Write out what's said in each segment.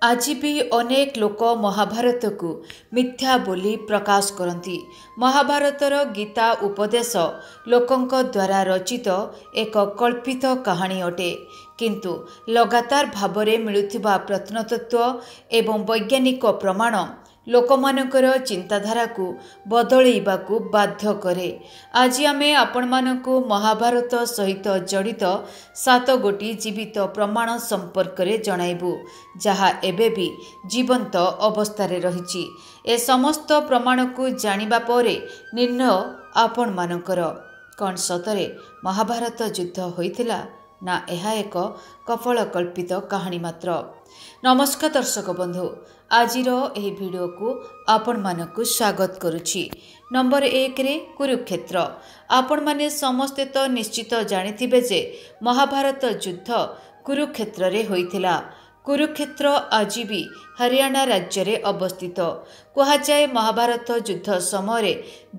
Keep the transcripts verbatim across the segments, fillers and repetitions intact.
ଆଜି ବି ଅନେକ ଲୋକ ମହାଭାରତକୁ ମିଥ୍ୟା ବୋଲି ପ୍ରକାଶ କରନ୍ତି। ମହାଭାରତର ଗୀତା ଉପଦେଶ ଲୋକଙ୍କ ଦ୍ୱାରା ରଚିତ ଏକ କଳ୍ପିତ କାହାଣୀ ଅଟେ, କିନ୍ତୁ ଲଗାତାର ଭାବରେ ମିଳୁଥିବା ପ୍ରତ୍ନତତ୍ତ୍ୱ ଏବଂ ବୈଜ୍ଞାନିକ ପ୍ରମାଣ ଲୋକମାନଙ୍କର ଚିନ୍ତାଧାରାକୁ ବଦଳେଇବାକୁ ବାଧ୍ୟ କରେ। ଆଜି ଆମେ ଆପଣମାନଙ୍କୁ ମହାଭାରତ ସହିତ ଜଡ଼ିତ ସାତ ଗୋଟି ଜୀବିତ ପ୍ରମାଣ ସମ୍ପର୍କରେ ଜଣାଇବୁ, ଯାହା ଏବେ ବି ଜୀବନ୍ତ ଅବସ୍ଥାରେ ରହିଛି। ଏ ସମସ୍ତ ପ୍ରମାଣକୁ ଜାଣିବା ପରେ ନିର୍ଣ୍ଣୟ ଆପଣମାନଙ୍କର, କ'ଣ ସତରେ ମହାଭାରତ ଯୁଦ୍ଧ ହୋଇଥିଲା ନା ଏହା ଏକ କପୋଳକଳ୍ପିତ କାହାଣୀ ମାତ୍ର? ନମସ୍କାର ଦର୍ଶକ ବନ୍ଧୁ, ଆଜିର ଏହି ଭିଡ଼ିଓକୁ ଆପଣମାନଙ୍କୁ ସ୍ୱାଗତ କରୁଛି। ନମ୍ବର ଏକରେ କୁରୁକ୍ଷେତ୍ର। ଆପଣମାନେ ସମସ୍ତେ ତ ନିଶ୍ଚିତ ଜାଣିଥିବେ ଯେ ମହାଭାରତ ଯୁଦ୍ଧ କୁରୁକ୍ଷେତ୍ରରେ ହୋଇଥିଲା। କୁରୁକ୍ଷେତ୍ର ଆଜି ବି ହରିୟାଣା ରାଜ୍ୟରେ ଅବସ୍ଥିତ। କୁହାଯାଏ ମହାଭାରତ ଯୁଦ୍ଧ ସମୟରେ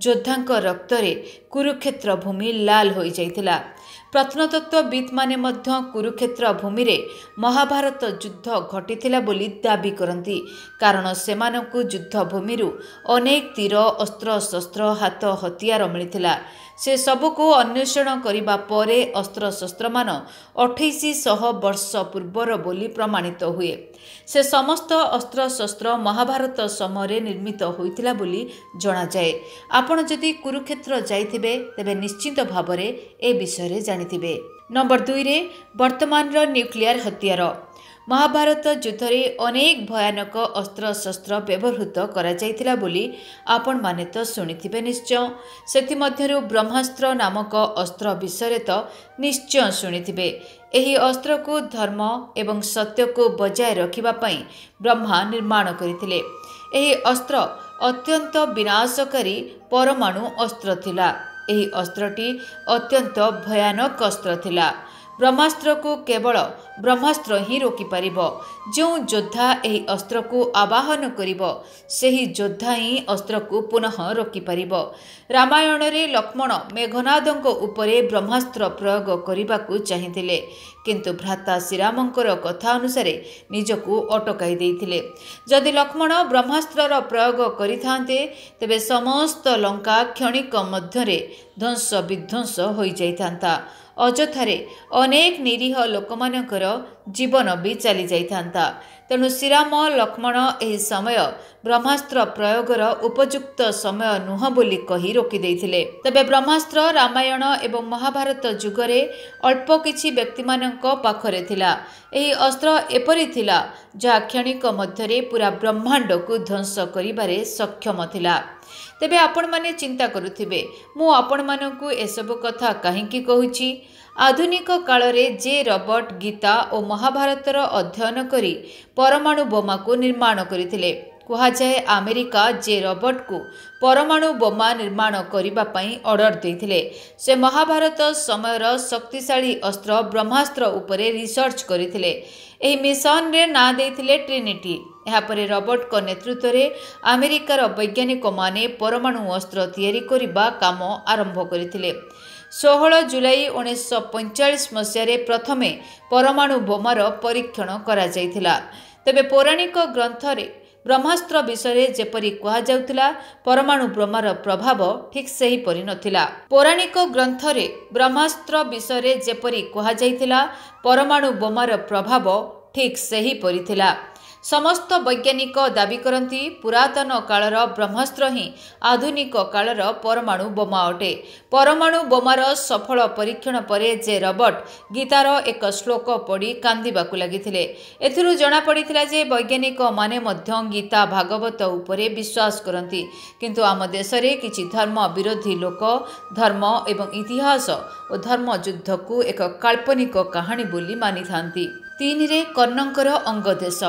ଯୋଦ୍ଧାଙ୍କ ରକ୍ତରେ କୁରୁକ୍ଷେତ୍ର ଭୂମି ଲାଲ ହୋଇଯାଇଥିଲା। ପ୍ରତ୍ନତତ୍ତ୍ୱବିତ୍ମାନେ ମଧ୍ୟ କୁରୁକ୍ଷେତ୍ର ଭୂମିରେ ମହାଭାରତ ଯୁଦ୍ଧ ଘଟିଥିଲା ବୋଲି ଦାବି କରନ୍ତି, କାରଣ ସେମାନଙ୍କୁ ଯୁଦ୍ଧ ଭୂମିରୁ ଅନେକ ତୀର, ଅସ୍ତ୍ରଶସ୍ତ୍ର, ହାତ ହତିଆର ମିଳିଥିଲା। ସେ ସବୁକୁ ଅନ୍ୱେଷଣ କରିବା ପରେ ଅସ୍ତ୍ରଶସ୍ତ୍ରମାନ ଅଠେଇଶ ଶହ ବର୍ଷ ପୂର୍ବର ବୋଲି ପ୍ରମାଣିତ ହୁଏ। ସେ ସମସ୍ତ ଅସ୍ତ୍ରଶସ୍ତ୍ର ମହାଭାରତ ସମୟରେ ନିର୍ମିତ ହୋଇଥିଲା ବୋଲି ଜଣାଯାଏ। ଆପଣ ଯଦି କୁରୁକ୍ଷେତ୍ର ଯାଇଥିବେ, ତେବେ ନିଶ୍ଚିତ ଭାବରେ ଏ ବିଷୟରେ ଜାଣିଥିବେ। ନମ୍ବର ଦୁଇରେ ବର୍ତ୍ତମାନର ନ୍ୟୁକ୍ଲିୟର ହତିଆର। ମହାଭାରତ ଯୁଦ୍ଧରେ ଅନେକ ଭୟାନକ ଅସ୍ତ୍ରଶସ୍ତ୍ର ବ୍ୟବହୃତ କରାଯାଇଥିଲା ବୋଲି ଆପଣମାନେ ତ ଶୁଣିଥିବେ ନିଶ୍ଚୟ। ସେଥିମଧ୍ୟରୁ ବ୍ରହ୍ମାସ୍ତ୍ର ନାମକ ଅସ୍ତ୍ର ବିଷୟରେ ତ ନିଶ୍ଚୟ ଶୁଣିଥିବେ। ଏହି ଅସ୍ତ୍ରକୁ ଧର୍ମ ଏବଂ ସତ୍ୟକୁ ବଜାୟ ରଖିବା ପାଇଁ ବ୍ରହ୍ମା ନିର୍ମାଣ କରିଥିଲେ। ଏହି ଅସ୍ତ୍ର ଅତ୍ୟନ୍ତ ବିନାଶକାରୀ ପରମାଣୁ ଅସ୍ତ୍ର ଥିଲା। ଏହି ଅସ୍ତ୍ରଟି ଅତ୍ୟନ୍ତ ଭୟାନକ ଅସ୍ତ୍ର ଥିଲା। ବ୍ରହ୍ମାସ୍ତ୍ରକୁ କେବଳ ବ୍ରହ୍ମାସ୍ତ୍ର ହିଁ ରୋକିପାରିବ। ଯେଉଁ ଯୋଦ୍ଧା ଏହି ଅସ୍ତ୍ରକୁ ଆବାହନ କରିବ, ସେହି ଯୋଦ୍ଧା ହିଁ ଅସ୍ତ୍ରକୁ ପୁନଃ ରୋକିପାରିବ। ରାମାୟଣରେ ଲକ୍ଷ୍ମଣ ମେଘନାଦଙ୍କ ଉପରେ ବ୍ରହ୍ମାସ୍ତ୍ର ପ୍ରୟୋଗ କରିବାକୁ ଚାହିଁଥିଲେ, କିନ୍ତୁ ଭ୍ରାତା ଶ୍ରୀରାମଙ୍କର କଥା ଅନୁସାରେ ନିଜକୁ ଅଟକାଇ ଦେଇଥିଲେ। ଯଦି ଲକ୍ଷ୍ମଣ ବ୍ରହ୍ମାସ୍ତ୍ରର ପ୍ରୟୋଗ କରିଥାନ୍ତେ, ତେବେ ସମସ୍ତ ଲଙ୍କା କ୍ଷଣିକ ମଧ୍ୟରେ ଧ୍ୱଂସ ବିଧ୍ୱଂସ ହୋଇଯାଇଥାନ୍ତା। ଅଯଥାରେ ଅନେକ ନିରୀହ ଲୋକମାନଙ୍କର ଜୀବନ ବି ଚାଲିଯାଇଥାନ୍ତା। ତେଣୁ ଶ୍ରୀରାମ ଲକ୍ଷ୍ମଣ ଏହି ସମୟ ବ୍ରହ୍ମାସ୍ତ୍ର ପ୍ରୟୋଗର ଉପଯୁକ୍ତ ସମୟ ନୁହଁ ବୋଲି କହି ରୋକିଦେଇଥିଲେ। ତେବେ ବ୍ରହ୍ମାସ୍ତ୍ର ରାମାୟଣ ଏବଂ ମହାଭାରତ ଯୁଗରେ ଅଳ୍ପ କିଛି ବ୍ୟକ୍ତିମାନଙ୍କ ପାଖରେ ଥିଲା। ଏହି ଅସ୍ତ୍ର ଏପରି ଥିଲା ଯାହା କ୍ଷଣିକ ମଧ୍ୟରେ ପୁରା ବ୍ରହ୍ମାଣ୍ଡକୁ ଧ୍ୱଂସ କରିବାରେ ସକ୍ଷମ ଥିଲା। ତେବେ ଆପଣମାନେ ଚିନ୍ତା କରୁଥିବେ, ମୁଁ ଆପଣମାନଙ୍କୁ ଏସବୁ କଥା କାହିଁକି କହୁଛି? ଆଧୁନିକ କାଳରେ ଜେ ରବର୍ଟ ଗୀତା ଓ ମହାଭାରତର ଅଧ୍ୟୟନ କରି ପରମାଣୁ ବୋମାକୁ ନିର୍ମାଣ କରିଥିଲେ। କୁହାଯାଏ ଆମେରିକା ଜେ ରବର୍ଟକୁ ପରମାଣୁ ବୋମା ନିର୍ମାଣ କରିବା ପାଇଁ ଅର୍ଡର ଦେଇଥିଲେ। ସେ ମହାଭାରତ ସମୟର ଶକ୍ତିଶାଳୀ ଅସ୍ତ୍ର ବ୍ରହ୍ମାସ୍ତ୍ର ଉପରେ ରିସର୍ଚ୍ଚ କରିଥିଲେ। ଏହି ମିଶନରେ ନାଁ ଦେଇଥିଲେ ଟ୍ରିନିଟି। ଏହାପରେ ରବର୍ଟଙ୍କ ନେତୃତ୍ୱରେ ଆମେରିକାର ବୈଜ୍ଞାନିକମାନେ ପରମାଣୁ ଅସ୍ତ୍ର ତିଆରି କରିବା କାମ ଆରମ୍ଭ କରିଥିଲେ। ଷୋହଳ ଜୁଲାଇ ଉଣେଇଶହ ପଇଁଚାଳିଶ ମସିହାରେ ପ୍ରଥମେ ପରମାଣୁ ବୋମାର ପରୀକ୍ଷଣ କରାଯାଇଥିଲା। ତେବେ ପୌରାଣିକ ଗ୍ରନ୍ଥରେ ବ୍ରହ୍ମାସ୍ତ୍ର ବିଷୟରେ ଯେପରି କୁହାଯାଉଥିଲା, ପରମାଣୁ ବୋମାର ପ୍ରଭାବ ଠିକ୍ ସେହିପରି ନଥିଲା। ପୌରାଣିକ ଗ୍ରନ୍ଥରେ ବ୍ରହ୍ମାସ୍ତ୍ର ବିଷୟରେ ଯେପରି କୁହାଯାଇଥିଲା, ପରମାଣୁ ବୋମାର ପ୍ରଭାବ ଠିକ୍ ସେହିପରି ଥିଲା। ସମସ୍ତ ବୈଜ୍ଞାନିକ ଦାବି କରନ୍ତି ପୁରାତନ କାଳର ବ୍ରହ୍ମାସ୍ତ୍ର ହିଁ ଆଧୁନିକ କାଳର ପରମାଣୁ ବୋମା ଅଟେ। ପରମାଣୁ ବୋମାର ସଫଳ ପରୀକ୍ଷଣ ପରେ ଜେ ରବର୍ଟ ଗୀତାର ଏକ ଶ୍ଲୋକ ପଢ଼ି କାନ୍ଦିବାକୁ ଲାଗିଥିଲେ। ଏଥିରୁ ଜଣାପଡ଼ିଥିଲା ଯେ ବୈଜ୍ଞାନିକମାନେ ମଧ୍ୟ ଗୀତା ଭାଗବତ ଉପରେ ବିଶ୍ୱାସ କରନ୍ତି, କିନ୍ତୁ ଆମ ଦେଶରେ କିଛି ଧର୍ମ ବିରୋଧୀ ଲୋକ ଧର୍ମ ଏବଂ ଇତିହାସ ଓ ଧର୍ମ ଯୁଦ୍ଧକୁ ଏକ କାଳ୍ପନିକ କାହାଣୀ ବୋଲି ମାନିଥାନ୍ତି। ତିନିରେ କର୍ଣ୍ଣଙ୍କର ଅଙ୍ଗଦେଶ।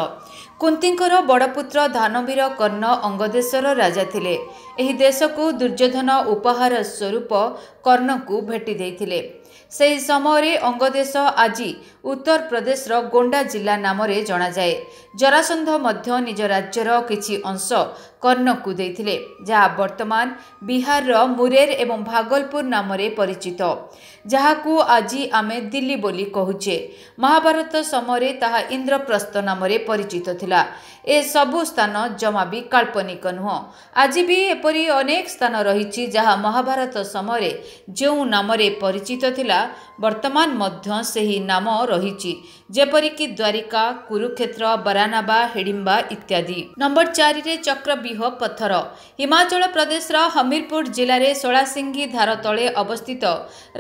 କୁନ୍ତୀଙ୍କର ବଡ଼ପୁତ୍ର ଦାନବୀର କର୍ଣ୍ଣ ଅଙ୍ଗଦେଶର ରାଜା ଥିଲେ। ଏହି ଦେଶକୁ ଦୁର୍ଯ୍ୟୋଧନ ଉପହାର ସ୍ୱରୂପ କର୍ଣ୍ଣଙ୍କୁ ଭେଟି ଦେଇଥିଲେ। ସେହି ସମୟରେ ଅଙ୍ଗଦେଶ ଆଜି ଉତ୍ତରପ୍ରଦେଶର ଗୋଣ୍ଡା ଜିଲ୍ଲା ନାମରେ ଜଣାଯାଏ। ଜରାସନ୍ଧ ମଧ୍ୟ ନିଜ ରାଜ୍ୟର କିଛି ଅଂଶ କର୍ଣ୍ଣକୁ ଦେଇଥିଲେ, ଯାହା ବର୍ତ୍ତମାନ ବିହାରର ମୁରେର ଏବଂ ଭାଗଲପୁର ନାମରେ ପରିଚିତ, ଯାହାକୁ ଆଜି ଆମେ ଦିଲ୍ଲୀ ବୋଲି କହୁଛେ। ମହାଭାରତ ସମୟରେ ତାହା ଇନ୍ଦ୍ରପ୍ରସ୍ଥ ନାମରେ ପରିଚିତ ଥିଲା। ଏସବୁ ସ୍ଥାନ ଜମା ବି କାଳ୍ପନିକ ନୁହଁ। ଆଜି ବି ଏପରି ଅନେକ ସ୍ଥାନ ରହିଛି ଯାହା ମହାଭାରତ ସମୟରେ ଯେଉଁ ନାମରେ ପରିଚିତ ଥିଲା, ବର୍ତ୍ତମାନ ମଧ୍ୟ ସେହି ନାମ ରହିଛି, ଯେପରିକି ଦ୍ୱାରିକା, କୁରୁକ୍ଷେତ୍ର, ବାରାନାବା, ହିଡ଼ିମ୍ବା ଇତ୍ୟାଦି। ନମ୍ବର ଚାରିରେ ଚକ୍ରବ୍ୟୁହ ପଥର। ହିମାଚଳ ପ୍ରଦେଶର ହମିରପୁର ଜିଲ୍ଲାରେ ସୋଳାସିଙ୍ଗି ଧାର ତଳେ ଅବସ୍ଥିତ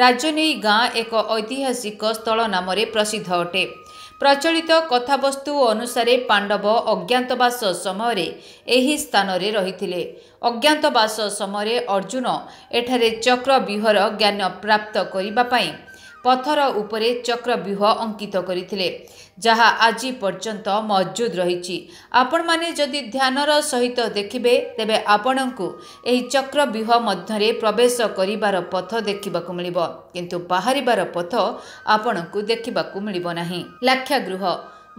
ରାଜନେଇ ଗାଁ ଏକ ଐତିହାସିକ ସ୍ଥଳ ନାମରେ ପ୍ରସିଦ୍ଧ ଅଟେ। ପ୍ରଚଳିତ କଥାବସ୍ତୁ ଅନୁସାରେ ପାଣ୍ଡବ ଅଜ୍ଞାତବାସ ସମୟରେ ଏହି ସ୍ଥାନରେ ରହିଥିଲେ। ଅଜ୍ଞାତବାସ ସମୟରେ ଅର୍ଜୁନ ଏଠାରେ ଚକ୍ରବ୍ୟୁହର ଜ୍ଞାନ ପ୍ରାପ୍ତ କରିବା ପାଇଁ ପଥର ଉପରେ ଚକ୍ରବ୍ୟୁହ ଅଙ୍କିତ କରିଥିଲେ, ଯାହା ଆଜି ପର୍ଯ୍ୟନ୍ତ ମହଜୁଦ ରହିଛି। ଆପଣମାନେ ଯଦି ଧ୍ୟାନର ସହିତ ଦେଖିବେ, ତେବେ ଆପଣଙ୍କୁ ଏହି ଚକ୍ରବ୍ୟୁହ ମଧ୍ୟରେ ପ୍ରବେଶ କରିବାର ପଥ ଦେଖିବାକୁ ମିଳିବ, କିନ୍ତୁ ବାହାରିବାର ପଥ ଆପଣଙ୍କୁ ଦେଖିବାକୁ ମିଳିବ ନାହିଁ। ଲାକ୍ଷାଗୃହ।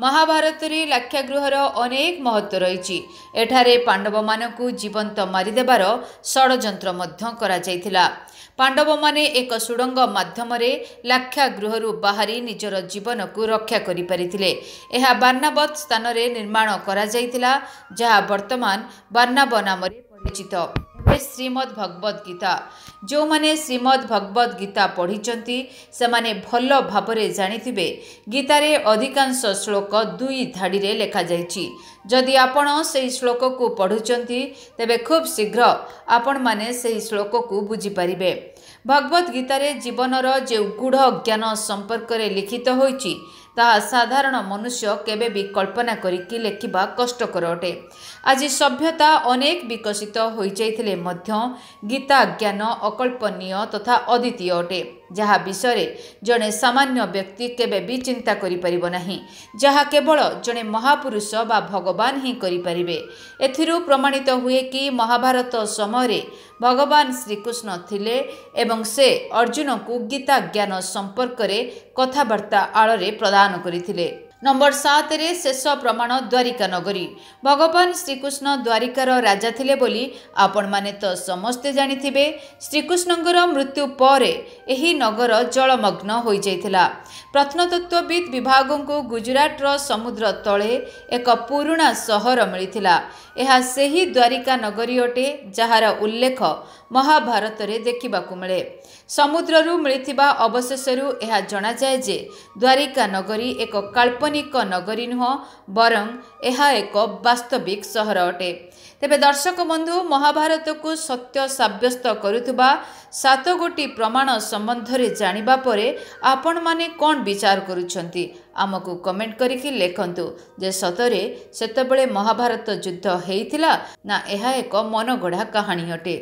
ମହାଭାରତରେ ଲାକ୍ଷାଗୃହର ଅନେକ ମହତ୍ତ୍ୱ ରହିଛି। ଏଠାରେ ପାଣ୍ଡବମାନଙ୍କୁ ଜୀବନ୍ତ ମାରିଦେବାର ଷଡ଼ଯନ୍ତ୍ର ମଧ୍ୟ କରାଯାଇଥିଲା। ପାଣ୍ଡବମାନେ ଏକ ସୁଡ଼ଙ୍ଗ ମାଧ୍ୟମରେ ଲାକ୍ଷାଗୃହରୁ ବାହାରି ନିଜର ଜୀବନକୁ ରକ୍ଷା କରିପାରିଥିଲେ। ଏହା ବାର୍ଣ୍ଣାବତ ସ୍ଥାନରେ ନିର୍ମାଣ କରାଯାଇଥିଲା, ଯାହା ବର୍ତ୍ତମାନ ବାର୍ଣ୍ଣାବ ନାମରେ ପରିଚିତ। ଶ୍ରୀମଦ୍ ଭଗବତ ଗୀତା। ଯେଉଁମାନେ ଶ୍ରୀମଦ୍ ଭଗବତ ଗୀତା ପଢ଼ିଛନ୍ତି, ସେମାନେ ଭଲ ଭାବରେ ଜାଣିଥିବେ ଗୀତାରେ ଅଧିକାଂଶ ଶ୍ଲୋକ ଦୁଇ ଧାଡ଼ିରେ ଲେଖାଯାଇଛି। ଯଦି ଆପଣ ସେହି ଶ୍ଲୋକକୁ ପଢ଼ୁଛନ୍ତି, ତେବେ ଖୁବ୍ ଶୀଘ୍ର ଆପଣମାନେ ସେହି ଶ୍ଲୋକକୁ ବୁଝିପାରିବେ। ଭଗବତ ଗୀତାରେ ଜୀବନର ଯେଉଁ ଗୂଢ଼ ଜ୍ଞାନ ସମ୍ପର୍କରେ ଲିଖିତ ହୋଇଛି, ତାହା ସାଧାରଣ ମନୁଷ୍ୟ କେବେ ବି କଳ୍ପନା କରିକି ଲେଖିବା କଷ୍ଟକର ଅଟେ। ଆଜି ସଭ୍ୟତା ଅନେକ ବିକଶିତ ହୋଇଯାଇଥିଲେ ମଧ୍ୟ ଗୀତା ଜ୍ଞାନ ଅକଳ୍ପନୀୟ ତଥା ଅଦ୍ୱିତୀୟ ଅଟେ, ଯାହା ବିଷୟରେ ଜଣେ ସାମାନ୍ୟ ବ୍ୟକ୍ତି କେବେ ବି ଚିନ୍ତା କରିପାରିବ ନାହିଁ, ଯାହା କେବଳ ଜଣେ ମହାପୁରୁଷ ବା ଭଗବାନ ହିଁ କରିପାରିବେ। ଏଥିରୁ ପ୍ରମାଣିତ ହୁଏ କି ମହାଭାରତ ସମୟରେ ଭଗବାନ ଶ୍ରୀକୃଷ୍ଣ ଥିଲେ ଏବଂ ସେ ଅର୍ଜୁନଙ୍କୁ ଗୀତା ଜ୍ଞାନ ସମ୍ପର୍କରେ କଥାବାର୍ତ୍ତା ଆଳରେ ପ୍ରଦାନ କରିଥିଲେ। ନମ୍ବର ସାତରେ ଶେଷ ପ୍ରମାଣ ଦ୍ୱାରିକା ନଗରୀ। ଭଗବାନ ଶ୍ରୀକୃଷ୍ଣ ଦ୍ୱାରିକାର ରାଜା ଥିଲେ ବୋଲି ଆପଣମାନେ ତ ସମସ୍ତେ ଜାଣିଥିବେ। ଶ୍ରୀକୃଷ୍ଣଙ୍କର ମୃତ୍ୟୁ ପରେ ଏହି ନଗର ଜଳମଗ୍ନ ହୋଇଯାଇଥିଲା। ପ୍ରତ୍ନତତ୍ତ୍ୱବିତ୍ ବିଭାଗଙ୍କୁ ଗୁଜୁରାଟର ସମୁଦ୍ର ତଳେ ଏକ ପୁରୁଣା ସହର ମିଳିଥିଲା। ଏହା ସେହି ଦ୍ୱାରିକା ନଗରୀ ଅଟେ, ଯାହାର ଉଲ୍ଲେଖ ମହାଭାରତରେ ଦେଖିବାକୁ ମିଳେ। ସମୁଦ୍ରରୁ ମିଳିଥିବା ଅବଶେଷରୁ ଏହା ଜଣାଯାଏ ଯେ ଦ୍ୱାରିକା ନଗରୀ ଏକ କାଳ୍ପନିକ ନଗରୀ ନୁହଁ, ବରଂ ଏହା ଏକ ବାସ୍ତବିକ ସହର ଅଟେ। ତେବେ ଦର୍ଶକ ବନ୍ଧୁ, ମହାଭାରତକୁ ସତ୍ୟ ସାବ୍ୟସ୍ତ କରୁଥିବା ସାତ ଗୋଟି ପ୍ରମାଣ ସମ୍ବନ୍ଧରେ ଜାଣିବା ପରେ ଆପଣମାନେ କ'ଣ ବିଚାର କରୁଛନ୍ତି, ଆମକୁ କମେଣ୍ଟ କରିକି ଲେଖନ୍ତୁ ଯେ ସତରେ ସେତେବେଳେ ମହାଭାରତ ଯୁଦ୍ଧ ହେଇଥିଲା ନା ଏହା ଏକ ମନଗଢ଼ା କାହାଣୀ ଅଟେ।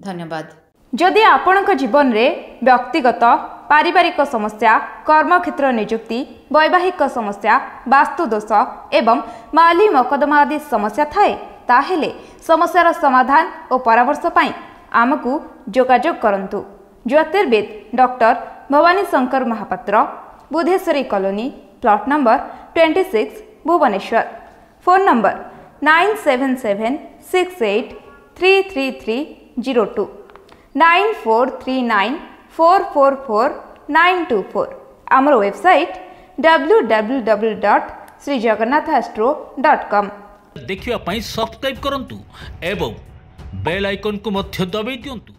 ଧନ୍ୟବାଦ। ଯଦି ଆପଣଙ୍କ ଜୀବନରେ ବ୍ୟକ୍ତିଗତ, ପାରିବାରିକ ସମସ୍ୟା, କର୍ମକ୍ଷେତ୍ର, ନିଯୁକ୍ତି, ବୈବାହିକ ସମସ୍ୟା, ବାସ୍ତୁଦୋଷ ଏବଂ ମାଲି ମକଦ୍ଦମା ଆଦି ସମସ୍ୟା ଥାଏ, ତାହେଲେ ସମସ୍ୟାର ସମାଧାନ ଓ ପରାମର୍ଶ ପାଇଁ ଆମକୁ ଯୋଗାଯୋଗ କରନ୍ତୁ। ଜ୍ୟୋତିର୍ବିଦ doctor Bhabani Shankar Mohapatra, Budheswari colony, plot number twenty six, Bhubaneswar. Phone number nine seven seven six eight three three three zero two, nine four three nine four four four nine two four. ଆମର website W W W dot Shri Jagannath astro dot com. ଦେଖିବା ପାଇଁ subscribe କରନ୍ତୁ ଏବଂ bail ଆଇକନ୍କୁ ମଧ୍ୟ ଦବାଇ ଦିଅନ୍ତୁ।